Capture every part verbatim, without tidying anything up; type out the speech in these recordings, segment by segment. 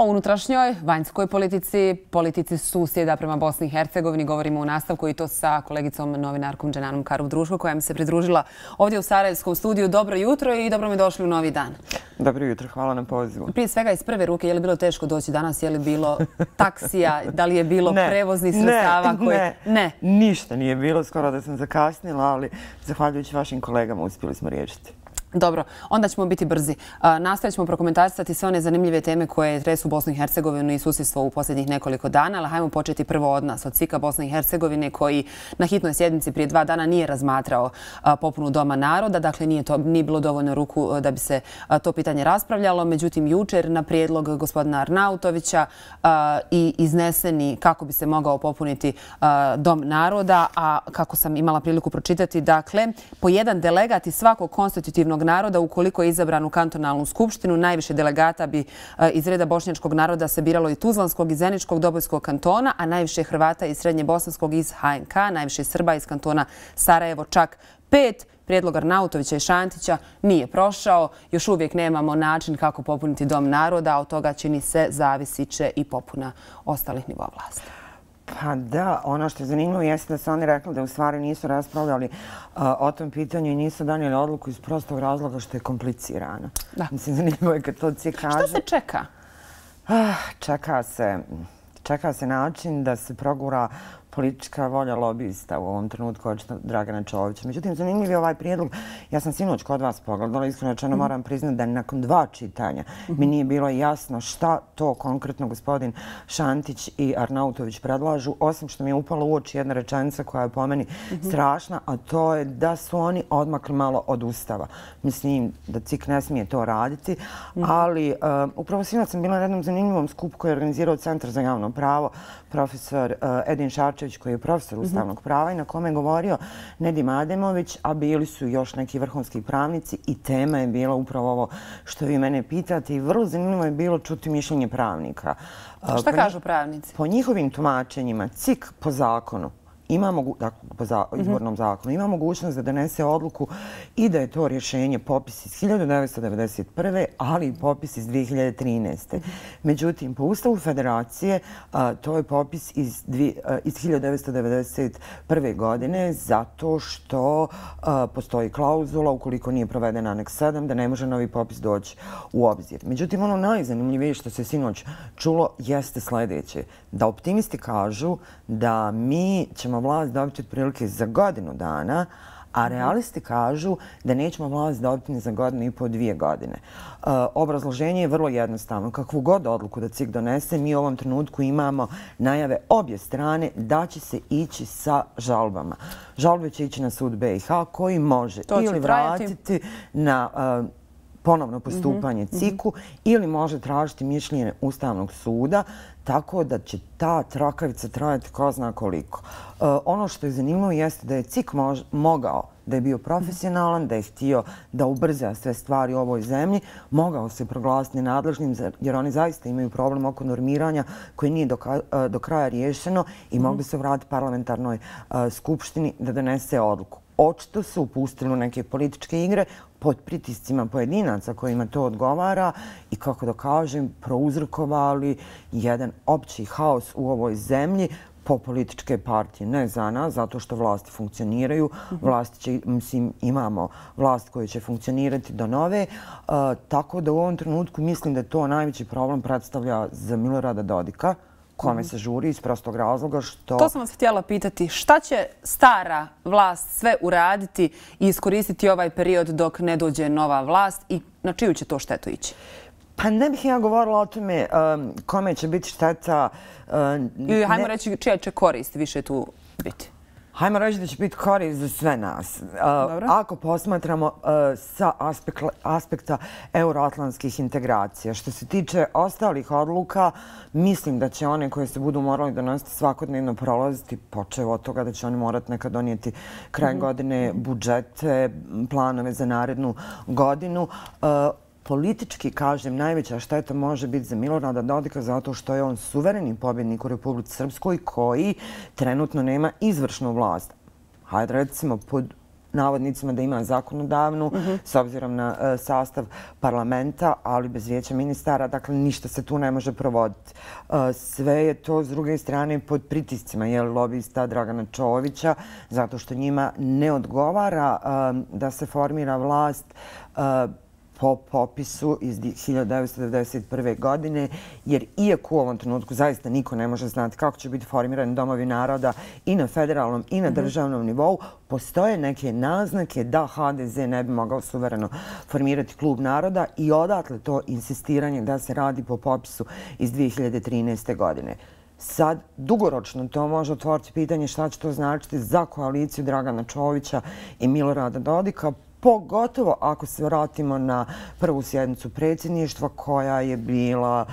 O unutrašnjoj, vanjskoj politici, politici susjeda prema Bosni i Hercegovini govorimo u nastavku i to sa kolegicom novinarkom Dženanom Karov-Druško koja mi se pridružila ovdje u Sarajevskom studiju. Dobro jutro i dobro mi došli u novi dan. Dobro jutro, hvala na pozivu. Prije svega iz prve ruke, je li bilo teško doći danas, je li bilo taksija, da li je bilo ne, prevoznih sredstava? Ne, koji... ne, ne, ništa nije bilo, skoro da sam zakasnila, ali zahvaljujući vašim kolegama uspjeli smo riješiti. Dobro, onda ćemo biti brzi. Nastavit ćemo prokomentarisati sve one zanimljive teme koje tresu Bosnu i Hercegovinu i susjedstvo u posljednjih nekoliko dana, ali hajmo početi prvo od nas, od C I K-a Bosne i Hercegovine koji na hitnoj sjednici prije dva dana nije razmatrao popunu Doma naroda, dakle nije, to, nije bilo dovoljno ruku da bi se to pitanje raspravljalo. Međutim, jučer na prijedlog gospodina Arnautovića i izneseni kako bi se mogao popuniti Dom naroda, a kako sam imala priliku pročitati, dakle, po jedan delegat iz svakog konstitutivnog naroda, ukoliko je izabran u kantonalnu skupštinu, najviše delegata bi iz reda bošnjačkog naroda se biralo i Tuzlanskog i Zeničkog Dobojskog kantona, a najviše Hrvata iz Srednje Bosanskog iz H N K, najviše Srba iz kantona Sarajevo, čak pet. Prijedlog Arnautovića i Šantića nije prošao. Još uvijek nemamo način kako popuniti Dom naroda, a od toga čini se zavisit će i popuna ostalih nivoa vlasti. Pa da, ono što je zanimljivo jeste da su oni rekli da u stvari nisu raspravljali uh, o tom pitanju i nisu donijeli odluku iz prostog razloga što je komplicirano. Da. Mislim, zanimljivo je kad to C I K kaže. Što se čeka? Ah, čeka se, čeka se način da se progura politička volja lobista u ovom trenutku očito Dragana Čovića. Međutim, zanimljiv je ovaj prijedlog. Ja sam sinoć kod vas pogledala, iskreno rečeno moram priznati da nakon dva čitanja mi nije bilo jasno šta to konkretno gospodin Šantić i Arnautović predlažu, osim što mi je upala u oči jedna rečenica koja je po meni strašna, a to je da su oni odmakli malo od Ustava. Mislim da C I K ne smije to raditi, ali uh, upravo sinoć sam bila na jednom zanimljivom skupu koji je organizirao Centar za javno pravo, profesor uh, Edin Šarčević koji je profesor ustavnog prava i na kome je govorio Nedim Ademović, a bili su još neki vrhunski pravnici i tema je bila upravo ovo što vi mene pitate i vrlo zanimljivo je bilo čuti mišljenje pravnika. Šta kažu pravnici? Po njihovim tumačenjima C I K po zakonu ima mogu, dakle, po za, izbornom zakonu, ima mogućnost da donese odluku i da je to rješenje popis iz hiljadu devetsto devedeset prve. ali i popis iz dvije hiljade trinaeste. Međutim, po Ustavu Federacije a, to je popis iz, dvi, a, iz hiljadu devetsto devedeset prve. godine zato što a, postoji klauzula ukoliko nije proveden aneks sedam da ne može novi popis doći u obzir. Međutim, ono najzanimljivije što se sinoć čulo jeste sljedeće. Da optimisti kažu da mi ćemo vlast dobiti otprilike za godinu dana, a realisti kažu da nećemo vlast dobiti ni za godinu i po dvije godine. Uh, obrazloženje je vrlo jednostavno. Kakvu god odluku da C I K donese, mi u ovom trenutku imamo najave obje strane da će se ići sa žalbama. Žalbe će ići na sud B i H koji može ili vratiti na uh, ponovno postupanje C I K-u ili može tražiti mišljenje Ustavnog suda, tako da će ta trakavica trajati ko zna koliko. Uh, ono što je zanimljivo jeste da je C I K mož, mogao, da je bio profesionalan, da je htio da ubrza sve stvari u ovoj zemlji, mogao se proglasiti nenadležnim jer oni zaista imaju problem oko normiranja koji nije do, uh, do kraja riješeno i mm. mogli se vratiti parlamentarnoj uh, skupštini da donese odluku. Očito su upustili u neke političke igre pod pritiscima pojedinaca kojima to odgovara i, kako da kažem, prouzrokovali jedan opći haos u ovoj zemlji po političke partije. Ne za nas, zato što vlasti funkcioniraju. Vlasti će, mislim, imamo vlast koja će funkcionirati do nove. Uh, tako da u ovom trenutku mislim da to najveći problem predstavlja za Milorada Dodika, kome se žuri iz prostog razloga što... To sam vas htjela pitati. Šta će stara vlast sve uraditi i iskoristiti ovaj period dok ne dođe nova vlast i na čiju će to štetu ići? Pa ne bih ja govorila o tome um, kome će biti šteta. Um, Ili hajmo ne... reći čija će korist više tu biti? Hajmo reći da će biti korist za sve nas. Uh, ako posmatramo uh, sa aspekt, aspekta euroatlantskih integracija. Što se tiče ostalih odluka, mislim da će one koje se budu morali donositi svakodnevno prolaziti, počev od toga da će oni morati nekad donijeti kraj mm-hmm. godine budžete, planove za narednu godinu. Uh, Politički, kažem, najveća šteta može biti za Milorada Dodika zato što je on suvereni pobjednik u Republici Srpskoj koji trenutno nema izvršnu vlast. Hajde recimo pod navodnicima da ima zakonodavnu s obzirom na sastav parlamenta, ali bez vijeća ministara, dakle ništa se tu ne može provoditi. Sve je to s druge strane pod pritiscima lobista Dragana Čovića, zato što njima ne odgovara da se formira vlast po popisu iz hiljadu devetsto devedeset prve. godine, jer iako u ovom trenutku zaista niko ne može znati kako će biti formirani domovi naroda i na federalnom i na državnom nivou, postoje neke naznake da ha de ze ne bi mogao suvereno formirati klub naroda i odatle to insistiranje da se radi po popisu iz dvije hiljade trinaeste. godine. Sad, dugoročno to može otvoriti pitanje šta će to značiti za koaliciju Dragana Čovića i Milorada Dodika, pogotovo ako se vratimo na prvu sjednicu predsjedništva koja je bila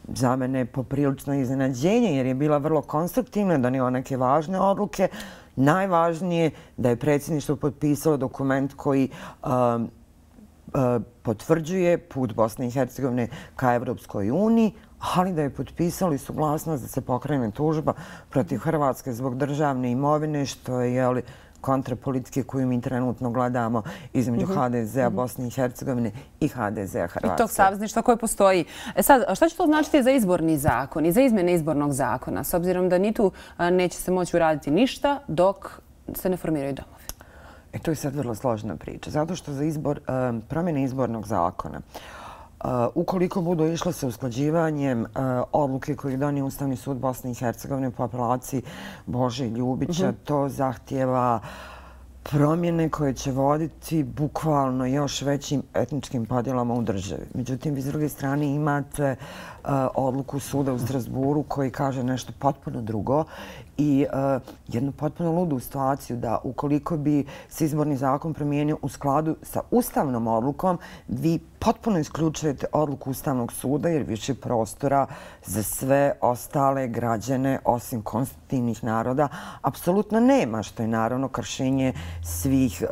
za mene poprilično iznenađenje jer je bila vrlo konstruktivna, donijela neke važne odluke. Najvažnije da je predsjedništvo potpisalo dokument koji um, uh, potvrđuje put Bosne i Hercegovine ka Evropskoj uniji, ali da je potpisali suglasnost da se pokrene tužba protiv Hrvatske zbog državne imovine, što je, jeli, kontrapolitike koju mi trenutno gledamo između ha de zea Bosne i Hercegovine i ha de zea Hrvatske. I tog savezništva koje postoji. E sad, šta će to značiti za izborni zakon i za izmjene izbornog zakona, s obzirom da ni tu neće se moći uraditi ništa dok se ne formiraju domovi? E, to je sad vrlo složena priča, zato što za izbor, promjene izbornog zakona, ukoliko budu išle sa usklađivanjem odluke koju je donio Ustavni sud Bosne i Hercegovine po apelaciji Bože Ljubića, to zahtjeva promjene koje će voditi bukvalno još većim etničkim podjelama u državi. Međutim, vi s druge strane imate odluku suda u Strasburu koji kaže nešto potpuno drugo i jednu potpuno ludu situaciju da ukoliko bi se izborni zakon promijenio u skladu sa ustavnom odlukom, vi potpuno isključujete odluku Ustavnog suda jer više prostora za sve ostale građane osim konstitutivnih naroda apsolutno nema, što je naravno kršenje svih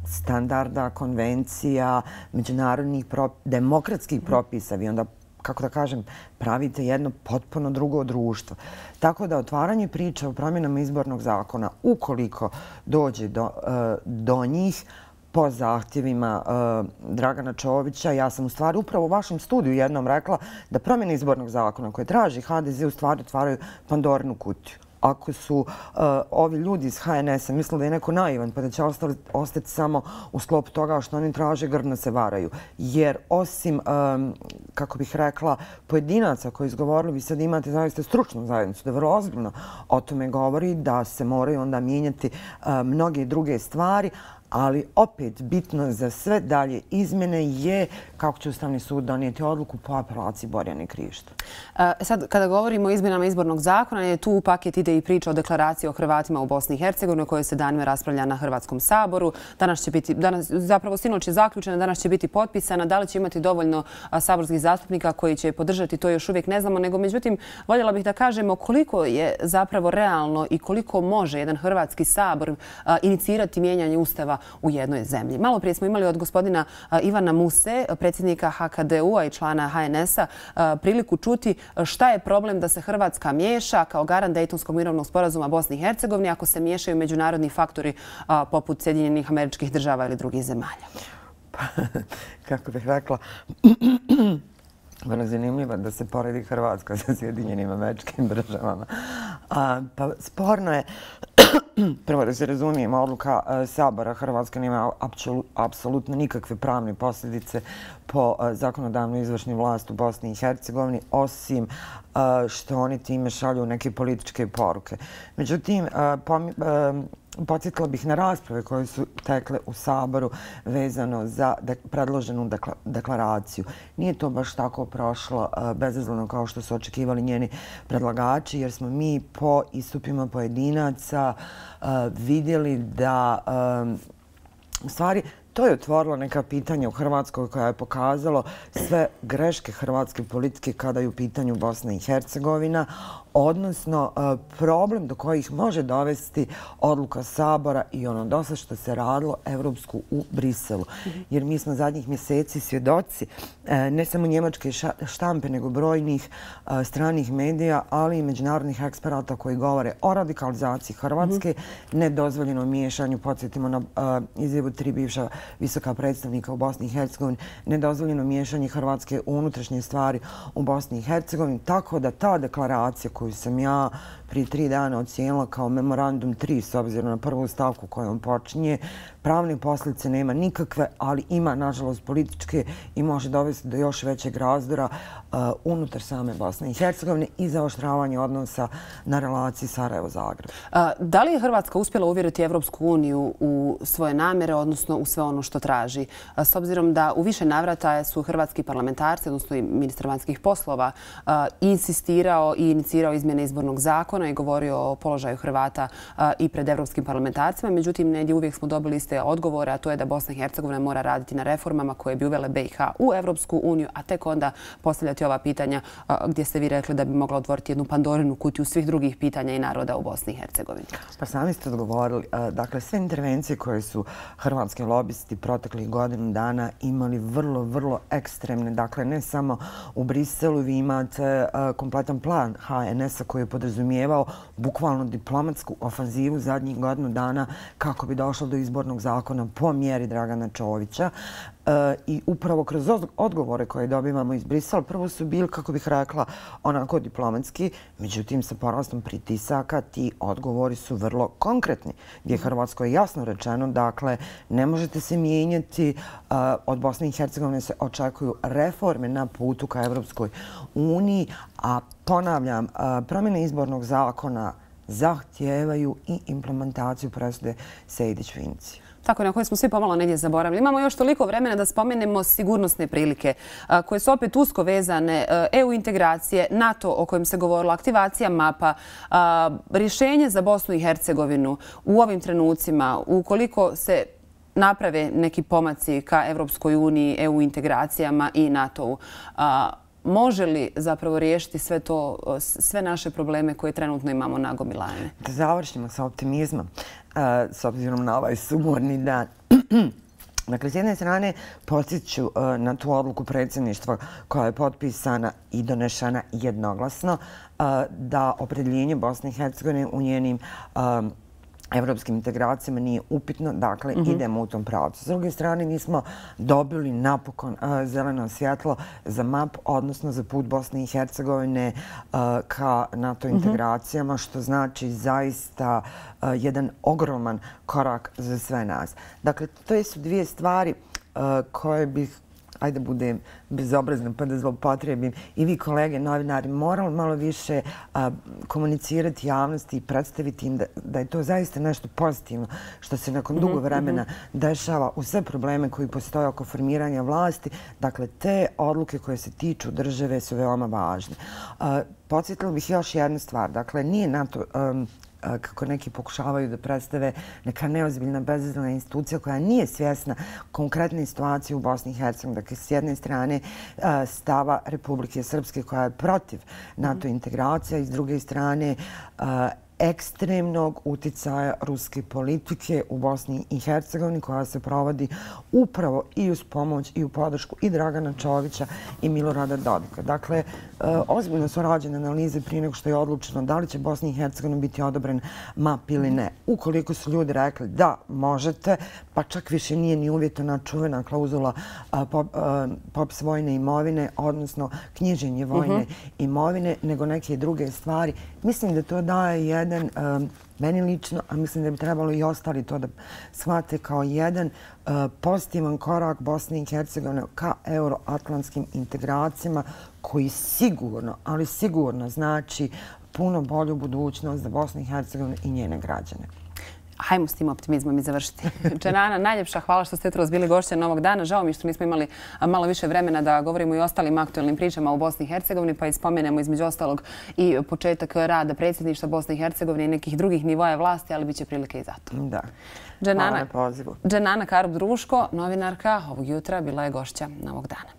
standarda, konvencija, međunarodnih demokratskih propisa. Vi onda, kako da kažem, pravite jedno potpuno drugo društvo. Tako da otvaranje priče o promjenama izbornog zakona, ukoliko dođe do, do njih, po zahtjevima Dragana Čovića, ja sam u stvari upravo u vašem studiju jednom rekla da promjene izbornog zakona koje traži ha de ze u stvari otvaraju Pandorinu kutiju. Ako su ovi ljudi iz ha en es a mislili da je neko naivan pa da će ostati samo u sklopu toga što oni traže, grdno se varaju. Jer osim, kako bih rekla, pojedinaca koji izgovorili, vi sad imate zaista stručnu zajednicu da vrlo ozbiljno o tome govori, da se moraju onda mijenjati mnoge druge stvari, ali opet bitno za sve dalje izmjene je kako će Ustavni sud donijeti odluku po apelaciji Borjane Krišto. Sad, kada govorimo o izmjenama izbornog zakona, je tu u paket ide i priča o deklaraciji o Hrvatima u Bosni i Hercegovini, o kojoj se danima raspravlja na Hrvatskom saboru. Danas će biti, danas, zapravo sinoć je zaključena, danas će biti potpisana. Da li će imati dovoljno saborskih zastupnika koji će podržati, to još uvijek ne znamo, nego međutim, voljela bih da kažemo koliko je zapravo realno i koliko može jedan Hrvatski sabor inicirati mijenjanje Ustava u jednoj zemlji. Malo prije smo imali od gospodina Ivana Muse, predsjednika ha ka de u-a i člana ha en es a, priliku čuti šta je problem da se Hrvatska miješa kao garant Dejtonskog mirovnog sporazuma Bosni i Hercegovini ako se miješaju međunarodni faktori poput Sjedinjenih Američkih Država ili drugih zemalja. Kako bih rekla, vrlo zanimljivo da se poredi Hrvatska sa Sjedinjenim Američkim Državama. Pa sporno je, prvo da se razumijemo, odluka Sabora Hrvatska nema apsolutno nikakve pravne posljedice po zakonodavnu izvršnu vlast u Bosni i Hercegovini, osim što oni time šalju neke političke poruke. Međutim, podsjetila bih na rasprave koje su tekle u Saboru vezano za predloženu deklaraciju. Nije to baš tako prošlo bezazleno kao što su očekivali njeni predlagači, jer smo mi po istupima pojedinaca vidjeli da u stvari to je otvorilo neka pitanja u Hrvatskoj koja je pokazalo sve greške hrvatske politike kada je u pitanju Bosna i Hercegovina, odnosno problem do kojih može dovesti odluka Sabora i ono dosta što se radilo Evropsku u Briselu. Jer mi smo zadnjih mjeseci svjedoci ne samo njemačke štampe, nego brojnih stranih medija, ali i međunarodnih eksperata koji govore o radikalizaciji Hrvatske, nedozvoljenom miješanju, podsjetimo na izjavu tri bivša visoka predstavnika u Bosni i Hercegovini, nedozvoljeno miješanje Hrvatske u unutrašnje stvari u Bosni i Hercegovini, tako da ta deklaracija koju sam ja prije tri dana ocijenila kao memorandum tri, s obzirom na prvu stavku kojom počinje, pravne posljedice nema nikakve, ali ima, nažalost, političke i može dovesti do još većeg razdora unutar same Bosne i Hercegovine i zaoštravanje odnosa na relaciji Sarajevo-Zagreb. Da li je Hrvatska uspjela uvjeriti Evropsku uniju u svoje namjere, odnosno u sve ono što traži? S obzirom da u više navrata su hrvatski parlamentarci, odnosno i ministar vanjskih poslova, insistirao i inicirao izmjene izbornog zakona i govorio o položaju Hrvata i pred evropskim parlamentarcima. Međutim, negdje uvijek smo dobili iste odgovore, a to je da Bosna i Hercegovina mora raditi na reformama koje bi uvele B i H u Evropsku uniju, a tek onda postavljati ova pitanja gdje ste vi rekli da bi mogla otvoriti jednu Pandorinu kutiju svih drugih pitanja i naroda u Bosni i Hercegovini. Pa sami ste odgovorili. Dakle, sve intervencije koje su hrvatski lobisti proteklih godinu dana imali vrlo, vrlo ekstremne. Dakle, ne samo u Briselu, vi imate kompletan plan H N S-a koji je podrazumijevao bukvalno diplomatsku ofanzivu zadnjih godinu dana kako bi došlo do izbornog zakona po mjeri Dragana Čovića. I upravo kroz odgovore koje dobivamo iz Brisela, prvo su bili, kako bih rekla, onako diplomatski, međutim sa porastom pritisaka ti odgovori su vrlo konkretni, gdje je Hrvatskoj jasno rečeno, dakle, ne možete se mijenjati, od Bosne i Hercegovine se očekuju reforme na putu ka Evropskoj uniji, a ponavljam, promjene izbornog zakona zahtijevaju i implementaciju presude Sejdić-Finci. Tako na koje smo svi pomalo negdje zaboravili. Imamo još toliko vremena da spomenemo sigurnosne prilike koje su opet usko vezane, E U integracije, NATO o kojem se govorilo, aktivacija mapa, rješenje za Bosnu i Hercegovinu u ovim trenucima, ukoliko se naprave neki pomaci ka Evropskoj uniji, E U integracijama i NATO-u. Može li zapravo riješiti sve to, sve naše probleme koje trenutno imamo nagomilane? Da završimo sa optimizmom, s obzirom na ovaj sumorni dan. Dakle, s jedne strane podsjeću na tu odluku predsjedništva koja je potpisana i donešena jednoglasno da opredjeljenje Bosne i Hercegovine u njenim evropskim integracijama nije upitno, dakle idemo u tom pravcu. S druge strane, mi smo dobili napokon zeleno svjetlo za map, odnosno za put Bosne i Hercegovine ka NATO integracijama, što znači zaista jedan ogroman korak za sve nas. Dakle, to su dvije stvari koje bih, ajde budem bezobrazna pa da zloupotrijebim, i vi kolege novinari morali malo više komunicirati javnosti i predstaviti im da je to zaista nešto pozitivno što se nakon dugo vremena dešava u sve probleme koji postoje oko formiranja vlasti. Dakle, te odluke koje se tiču države su veoma važne. Podsjetila bih još jednu stvar. Dakle, nije NATO, kako neki pokušavaju da predstave, neka neozbiljna bezazlena institucija koja nije svjesna konkretne situacije u Bosni i Hercegovini. Dakle, s jedne strane stava Republike Srpske koja je protiv NATO integracija i s druge strane ekstremnog uticaja ruske politike u Bosni i Hercegovini koja se provodi upravo i uz pomoć i u podršku i Dragana Čovića i Milorada Dodika. Dakle, ozbiljno su rađene analize prije nego što je odlučeno da li će Bosni i Hercegovini biti odobren map ili ne. Ukoliko su ljudi rekli da možete, pa čak više nije ni uvjetovana čuvena klauzula popis vojne imovine, odnosno knjiženje vojne imovine, nego neke druge stvari. Mislim da to daje jedan meni lično, a mislim da bi trebalo i ostali to da shvate kao jedan pozitivan korak Bosne i Hercegovine ka euroatlantskim integracijama koji sigurno, ali sigurno znači puno bolju budućnost za Bosnu i Hercegovinu i njene građane. Hajmo s tim optimizmom i završiti. Dženana, najljepša hvala što ste jutros bili gošća Novog dana. Žao mi što nismo imali malo više vremena da govorimo i o ostalim aktualnim pričama u Bosni i Hercegovini, pa i spomenemo između ostalog i početak rada predsjedništva Bosne i Hercegovine i nekih drugih nivoja vlasti, ali bit će prilike i za to. Da. Dženana, hvala na pozivu. Dženana Karub-Druško, novinarka ovog jutra, bila je gošća Novog dana.